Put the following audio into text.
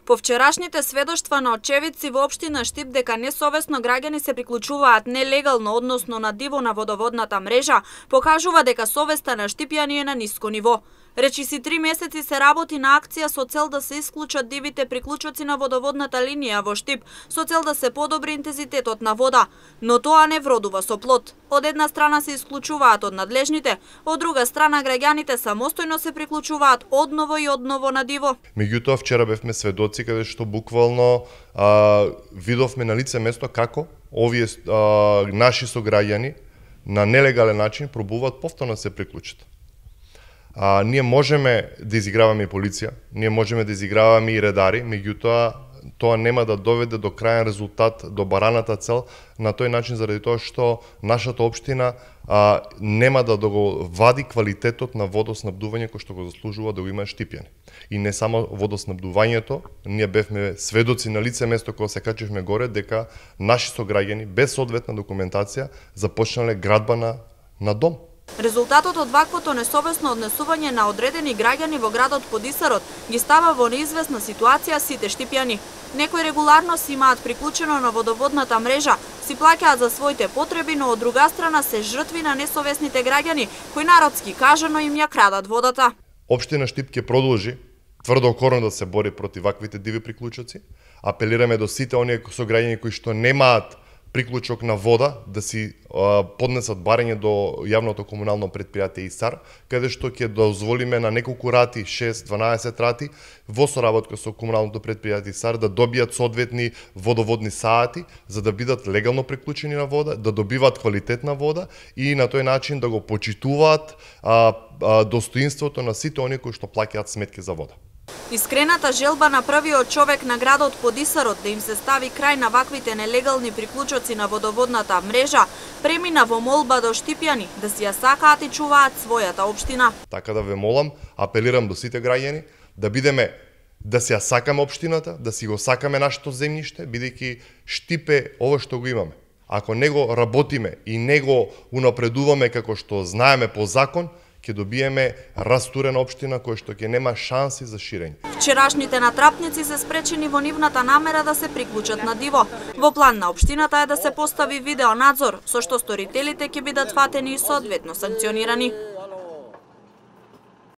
По вчерашните сведоштва на очевидци во општина Штип дека несовесно граѓани се приклучуваат нелегално, односно на диво на водоводната мрежа, покажува дека совеста на штипјани е на ниско ниво. Речиси 3 месеци се работи на акција со цел да се исклучат дивите приклучоци на водоводната линија во Штип, со цел да се подобри интензитетот на вода, но тоа не вродува со плод. Од една страна се исклучуваат од надлежните, од друга страна граѓаните самостојно се приклучуваат одново и одново на диво. Меѓутоа вчера бевме сведоци каде што буквално видовме на лице место како овие наши сограѓани на нелегален начин пробуваат повторно да се приклучат. Ние можеме да изиграваме и полиција, ние можеме да изиграваме и редари, меѓутоа тоа нема да доведе до крајен резултат, до бараната цел, на тој начин заради тоа што нашата општина нема да го вади квалитетот на водоснабдување кој што го заслужува да го има штипјани. И не само водоснабдувањето, ние бевме сведоци на лице место кога се качевме горе дека наши сограѓани без соодветна документација започнале градба на дом. Резултатот од ваквото несовесно однесување на одредени граѓани во градот Подисарот ги става во неизвестна ситуација сите штипјани. Некои регуларно си имаат приклучено на водоводната мрежа, си плаќаат за своите потреби, но од друга страна се жртви на несовесните граѓани, кои народски кажано им ја крадат водата. Општина Штип ќе продолжи тврдокорно да се бори против ваквите диви приклучоци. Апелираме до сите оние сограѓани кои што немаат приклучок на вода да си поднесат барање до јавното комунално предпријатие ИСАР, каде што ќе дозволиме на неколку рати, 6-12 рати, во соработка со комуналното предпријатие ИСАР да добијат соодветни водоводни саати, за да бидат легално приклучени на вода, да добиваат квалитетна вода и на тој начин да го почитуваат достоинството на сите оние кои што плаќаат сметки за вода. Искрената желба на првиот човек на градот Подисарот да им се стави крај на ваквите нелегални приклучоци на водоводната мрежа премина во молба до штипјани да си ја сакаат и чуваат својата општина. Така да ве молам, апелирам до сите граѓани да си ја сакаме општината, да си го сакаме нашето земјиште, бидејќи Штип е ова што го имаме. Ако не го работиме и не го унапредуваме како што знаеме по закон, ќе добиеме растурена општина која што ќе нема шанси за ширење. Вчерашните натрапници се спречени во нивната намера да се приклучат на диво. Во план на општината е да се постави видеонадзор, со што сторителите ќе бидат фатени и соодветно санкционирани.